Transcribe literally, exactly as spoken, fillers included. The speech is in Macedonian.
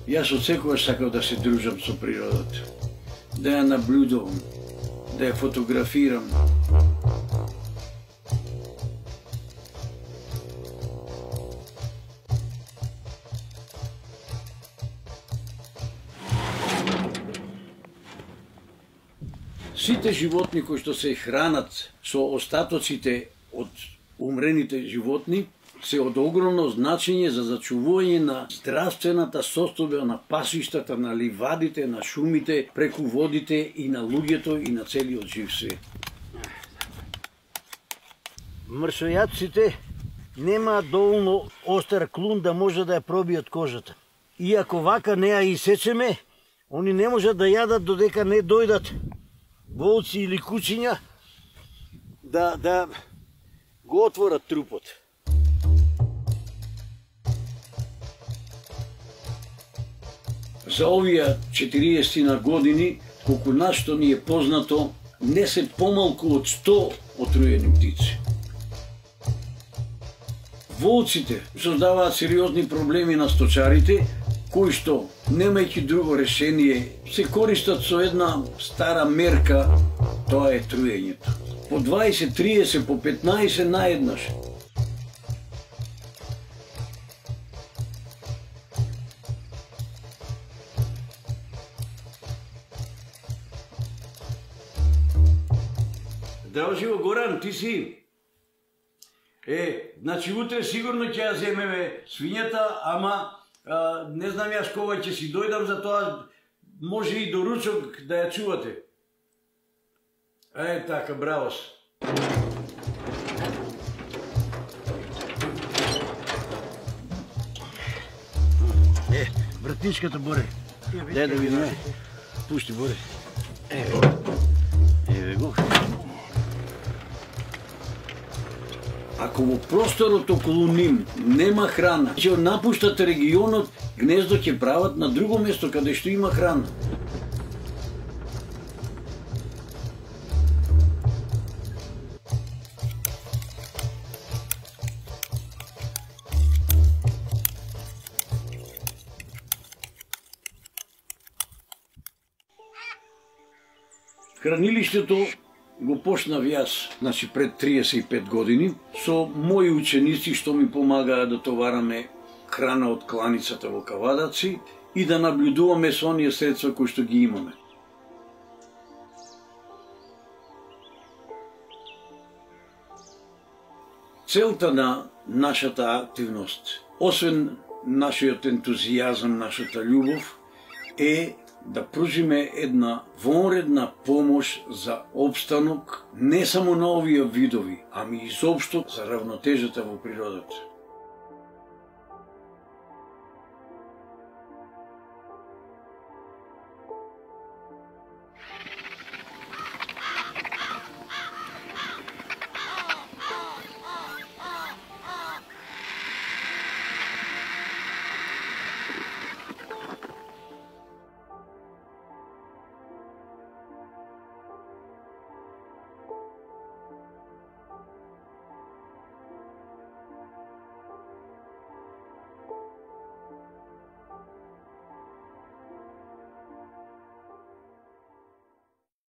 Јас од секогаш сакав да се дружам со природата, да ја наблюдувам, да ја фотографирам. Сите животни кои што се хранат со остатоците од умрените животни се од огромно значење за зачувување на здравствената состојба на пасиштата, на ливадите, на шумите, преку водите и на луѓето и на целиот жив свет. Мршојадците немаат доволно остар клун да може да ја пробијат кожата. И ако вака не ја исечеме, они не можат да јадат додека не дојдат волци или кучиња да, да го отворат трупот. За овие четириесет години, колку нашто ни е познато, не се помалку од сто отруени птици. Волците создаваат сериозни проблеми на сточарите, кои што, немајќи друго решение, се користат со една стара мерка, тоа е труењето. По дваесет, триесет, по петнаесет наеднаш. Здраво живо, Горан, ти си? Е, значи утре сигурно ќе ја земеме свињата, ама а, не знам јас кога ќе си дојдам, за тоа може и до ручок да ја чувате. Е, така, браво се. Е, вратничката, Боре. Дај да видиме. Пушти, Боре. Еве го. Еве го. Ако во просторот околу ним нема храна, ќе напуштат регионот, гнездо ќе прават на друго место каде што има храна. Хранилиштето го почнав јас, значи пред триесет и пет години, со мои ученици што ми помагаа да товараме храна од кланицата во Кавадаци и да наблюдуваме со оние средства кои што ги имаме. Целта на нашата активност, освен нашиот ентузијазам, нашата љубов, е да пружиме една вонредна помош за опстанок не само на овие видови, ами изопшто за равнотежата во природата.